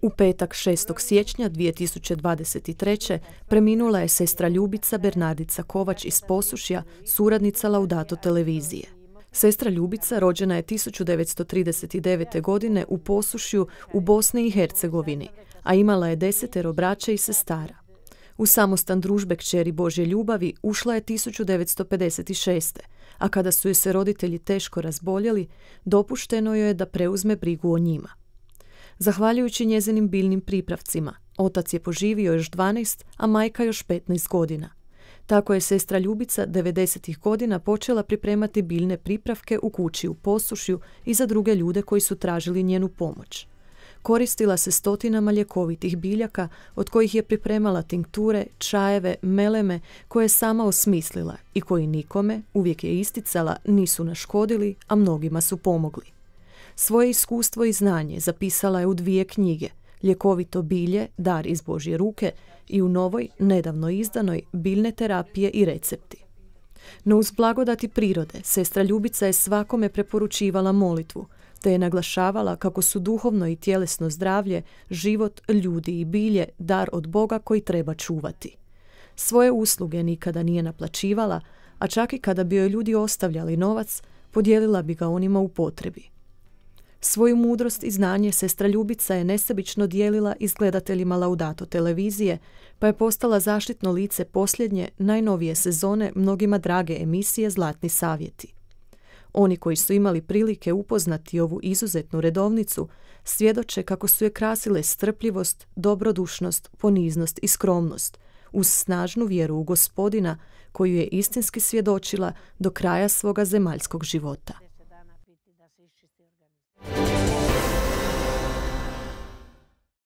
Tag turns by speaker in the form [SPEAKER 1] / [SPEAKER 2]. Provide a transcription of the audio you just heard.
[SPEAKER 1] U petak 6. siječnja 2023. preminula je sestra Ljubica Bernardica Kovač iz Posušja, suradnica Laudato televizije. Sestra Ljubica rođena je 1939. godine u Posušju u Bosni i Hercegovini, a imala je 10 braće i sestara. U samostan družbe kćeri Božje ljubavi ušla je 1956. a kada su joj se roditelji teško razboljeli, dopušteno joj je da preuzme brigu o njima. Zahvaljujući njezinim biljnim pripravcima, otac je poživio još 12, a majka još 15 godina. Tako je sestra Ljubica 90. godina počela pripremati biljne pripravke u kući u Posušju i za druge ljude koji su tražili njenu pomoć. Koristila se stotinama ljekovitih biljaka, od kojih je pripremala tinkture, čajeve, meleme koje je sama osmislila i koji nikome, uvijek je isticala, nisu naškodili, a mnogima su pomogli. Svoje iskustvo i znanje zapisala je u 2 knjige, Ljekovito bilje, dar iz Božje ruke i u novoj, nedavno izdanoj, Biljne terapije i recepti. No uz blagodati prirode, sestra Ljubica je svakome preporučivala molitvu, te je naglašavala kako su duhovno i tjelesno zdravlje, život, ljudi i bilje dar od Boga koji treba čuvati. Svoje usluge nikada nije naplaćivala, a čak i kada bi joj ljudi ostavljali novac, podijelila bi ga onima u potrebi. Svoju mudrost i znanje sestra Ljubica je nesebično dijelila i s gledateljima Laudato televizije, pa je postala zaštitno lice posljednje, najnovije sezone mnogima drage emisije Zlatni savjeti. Oni koji su imali prilike upoznati ovu izuzetnu redovnicu, svjedoče kako su je krasile strpljivost, dobrodušnost, poniznost i skromnost, uz snažnu vjeru u Gospodina, koju je istinski svjedočila do kraja svoga zemaljskog života.